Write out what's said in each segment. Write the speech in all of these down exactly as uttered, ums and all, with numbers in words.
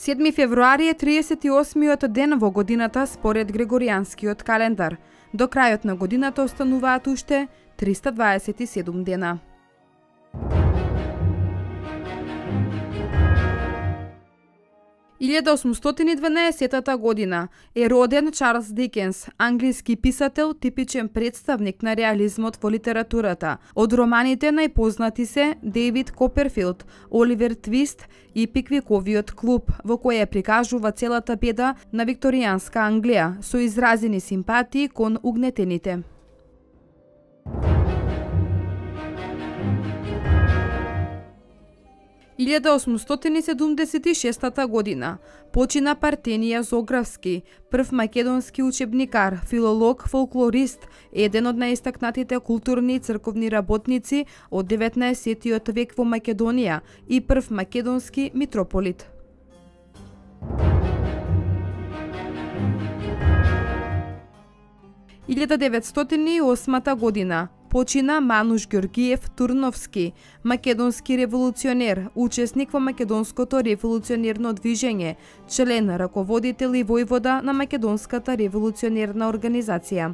седми февруари е триесет и осмиот ден во годината според Григоријанскиот календар. До крајот на годината остануваат уште триста дваесет и седум дена. илјада осумстотини и дванаесеттата година е роден Чарлс Дикенс, англиски писател, типичен представник на реализмот во литературата. Од романите најпознати се Дейвид Коперфилд, Оливер Твист и Пиквиковиот клуб, во која прикажува целата беда на викторијанска Англија со изразени симпатии кон угнетените. илјада осумстотини и седумдесет и шестата година почина Партенија Зографски, прв македонски учебникар, филолог, фолклорист, еден од најистакнатите културни и црковни работници од деветнаесеттиот век во Македонија и прв македонски митрополит. илјада деветстотини и осмата година почина Мануш Ѓоргиев Турновски, македонски револуционер, учесник во македонското револуционерно движење, член, раководител и војвода на македонската револуционерна организација.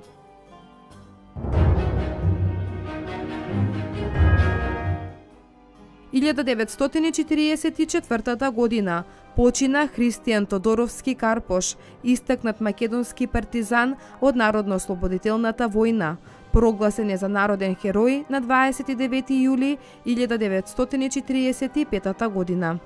илјада деветстотини и четириесет и четвртата година почина Христијан Тодоровски Карпош, истакнат македонски партизан од Народно-ослободителната војна. Прогласен е за народен херој на дваесет и девети јули илјада деветстотини и четириесет и петата година.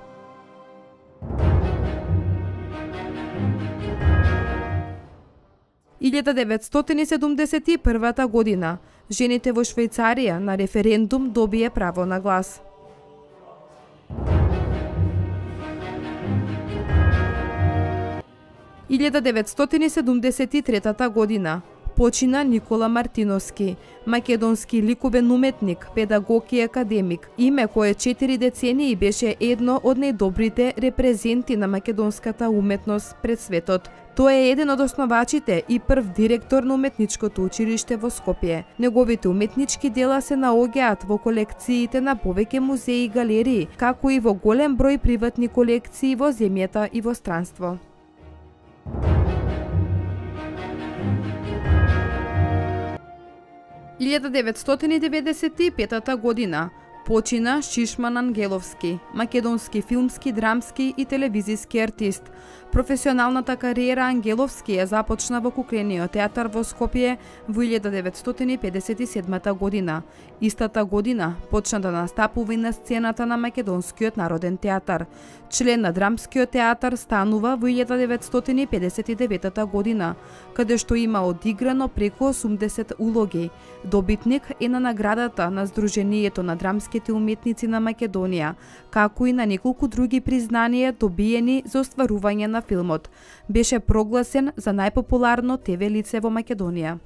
илјада деветстотини и седумдесет и првата година жените во Швајцарија на референдум добие право на глас. илјада деветстотини и седумдесет и третата година почина Никола Мартиновски, македонски ликовен уметник, педагог и академик, име кое четири децении беше едно од најдобрите репрезенти на македонската уметност пред светот. Тој е еден од основачите и прв директор на уметничкото училиште во Скопје. Неговите уметнички дела се наоѓаат во колекциите на повеќе музеи и галерии, како и во голем број приватни колекции во земјата и во странство. илјада деветстотини и деветдесет и петата година почина Шишман Ангеловски, македонски филмски, драмски и телевизиски артист. Професионалната кариера Ангеловски ја започна во Куклениот театар во Скопје во илјада деветстотини и педесет и седмата година. Истата година почна да настапува и на сцената на Македонскиот народен театар. Член на Драмскиот театар станува во илјада деветстотини и педесет и деветата година, каде што има одиграно преку осумдесет улоги. Добитник е на наградата на Сдруженијето на драмските уметници на Македонија, како и на неколку други признанија добиени за остварување на филмот. Беше прогласен за најпопуларно те ве лице во Македонија.